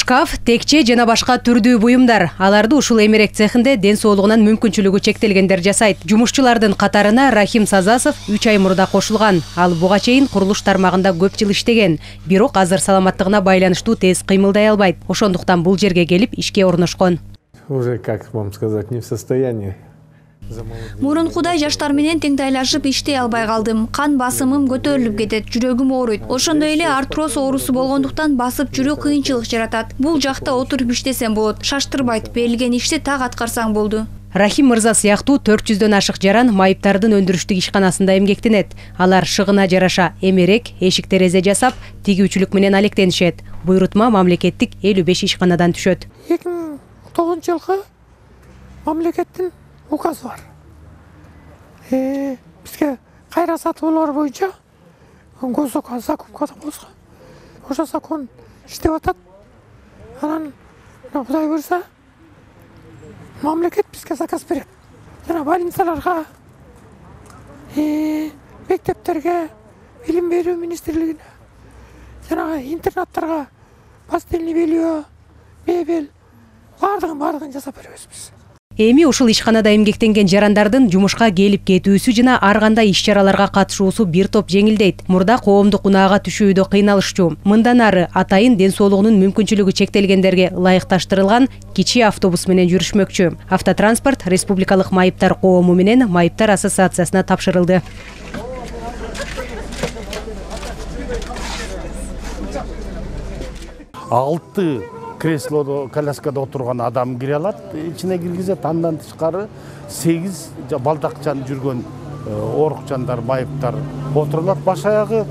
Шкаф, текче жана башка түрдүү буюмдар. Аларды ушул эмерек цехинде ден соолугунан мүмкүнчүлүгү чектелгендер жасайт. Жумушчулардын катарына Рахим Сазасов 3 ай мурда кошулган. Ал буга чейин курулуш тармагында көп жыл иштеген. Бирок азыр саламаттыгына байланыштуу тез кыймылдай албайт. Ошондуктан бул жерге келип ишке орношкон. Уже, как вам сказать, не в состоянии. Мурункудай жаштар менен теңтайлашып иштей албай калдым. Кан басымым көтөрүлүп кетет, жүрөгүм ооруйт. Ошондой эле артроз оорусу болгондуктан басып жүрүү кыйынчылык жаратат. Бул жакта отуруп иштесем болот. Шаштырбайт, берилген ишти так аткарсаң болду. Рахим мырза сыяктуу 400дөн ашык жаран майыптардын өндүрүштүк ишканасында эмгектенет. Алар шыгына жараша эмерек, эшик-терезе жасап, тигүүчүлүк менен алектенишет. Буйрутма мамлекеттик 55 ишканадан түшөт. 2009-жылкы мамлекеттин указ бар. Бизге кайра сатуулар боюнча госзакон болсо. Ошо закон иштеп атат. Анан Кудай буйрса мамлекет бизге заказ берет. Жана больницаларга, мектептерге, билим берүү министрлигине, жана интернаттарга постельный белье, мебель бардыгын жасап беребиз биз. Эми ушул ишканада эмгектенген жарандардын жумушка келип кетүүсү жана ар кандай иш-чараларга катышуусу бир топ жеңилдейт. Мурда коомдук унаага түшүүдө кыйналышчу. Мындан ары атайын ден соолугунун мүмкүнчүлүгү чектелгендерге ылайыкташтырылган кичи автобус менен жүрүшмөкчү. Автотранспорт Республикалык майыптар коому менен Майыптар ассоциациясына тапшырылды. Алты креслодо, коляскада отурган адам кире алат, ичине киргизет. Андан тышкары 8 балдакчан жүргөн орукчандар, майыптар отурулат. Баш аягы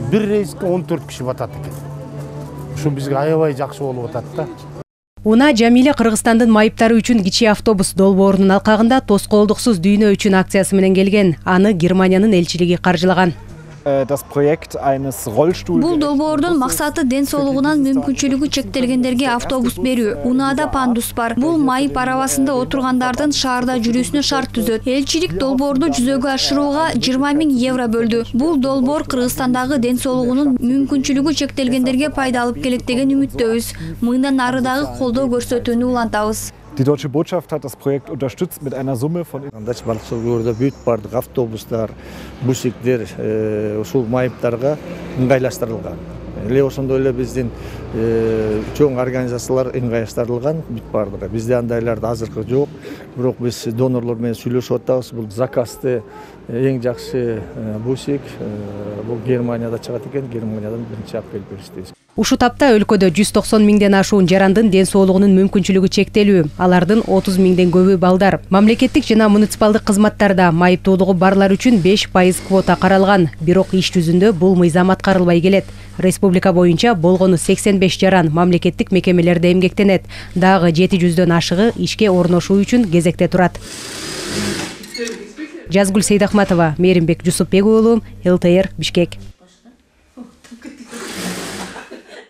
бир рейске 14 киши батат экен. Ушу бизге аябай жакшы болуп атат да. Уна Жамиле Кыргызстандын майыптары үчүн кичи автобус долбоорунун алкагында тоскоолдуксуз дүйнө үчүн акциясы менен келген. Аны Германиянын элчилиги каржылаган. Бул долбоордун максаты ден соолугунан мүмкүнчүлүгү чектелгендерге автобус берүү. Унаада пандус бар. Бул майып арабасында отургандардын шаарда жүрүүсүнө шарт түзөт. Элчилик долбоорду жүзөгө ашырууга 20 000 евро бөлдү. Бул долбоор Кыргызстандагы ден соолугунун мүмкүнчүлүгү чектелгендерге пайда алып келет деген үмүттөбүз. Мындан ары дагы колдоо көрсөтүүнү улантабыз. Die Deutsche Botschaft hat das Projekt unterstützt mit einer Summe von балыкчылык бүт бардык автобустар, бусиктер ушул майыптарга ыңгайлаштырылган. Эле ошондой эле биздин чоң организациялар ыңгайлаштырылган бүт бардыгы. Бизде андайларды азыркы жок. Бирок биз донорлор менен сүйлөшүп атабыз. Бул заказды эң жакшы бусик бул Германияда чыгат экен. Германиядан 1-апрель беришти. Ушу тапта өлкөдө 190 000ден ашуун жарандын ден соолугунун мүмкүнчүлүгү чектелүү. Алардын 30 000ден көбү балдар. Мамлекеттик жана муниципалдык кызматтарда майыптуулугу барлар үчүн 5% квота каралган. Бирок иш жүзүндө бул мыйзам аткарылбай келет. Республика боюнча болгону 85 жаран мамлекеттик мекемелерде эмгектенет. Дагы 700дөн ашыгы ишке орношуу үчүн кезекте турат. Жазгүл Сейдахматова, Мээримбек Жусупбек уулу, ЛТР, Бишкек.